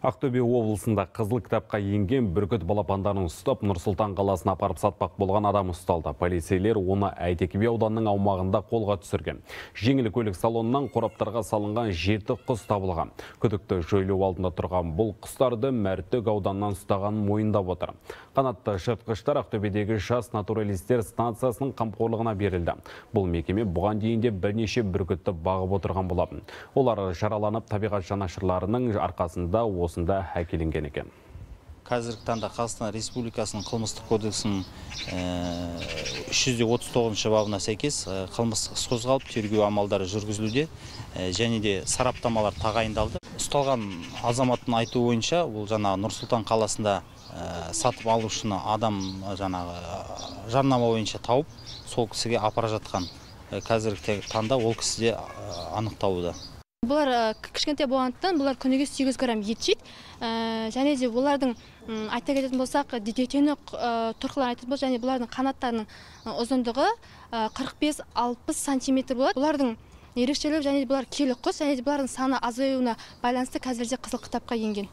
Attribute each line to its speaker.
Speaker 1: Ақтөбе облысында қызыл кітапқа енген бүркіт балапандарын ұстап, Нұр-Сұлтан қаласына апарып сатпақ болған адам ұсталды. Полицейлер оны Әйтеке би ауданының аумағында қолға түсірген. Жеңіл көлік салонынан қораптарға салынған 7 құс табылған. Күдікті жойлау алдында тұрған бұл құстарды Мәртөк ауданынан ұстаған мойындап отыр. Қанатты жыртқыштар Ақтөбедегі жас натуралистер станциясының қамқорлығына берілді. Бұл мекеме бұған дейін де бірнеше бүркітті бағып отырған болатын. Олар жараланып, табиғат жанашырларының арқасында осында әкелінген екен.
Speaker 2: Қазіргі таңда Қазақстан Республикасының қылмыстық кодексінің 339 бабына сәйкес қылмыстық іс қозғалып, тергеу амалдары жүргізілуде және де сараптамалар тағайындалды. Ұсталған азаматтың айтуы бойынша, ол Нұр-Сұлтан қаласында сатып алушыны адам жарнама бойынша тауып, сол кісіге апара жатқан. Қазіргі таңда ол кісіде анықталуда.
Speaker 3: Бұлар кішкентай болғандықтан, бұлар күніге 8 грамм ет жейді. Және де олардың айта кететін болсақ, детені тұрқыларын айтатын болсақ, және бұлардың қанаттарының ұзындығы 45-60 сантиметр болады. Бұлардың ерекшелігі, және де бұлар келі құс, және де бұлардың саны азаюына байланысты қазірде қызыл кітапқа енген.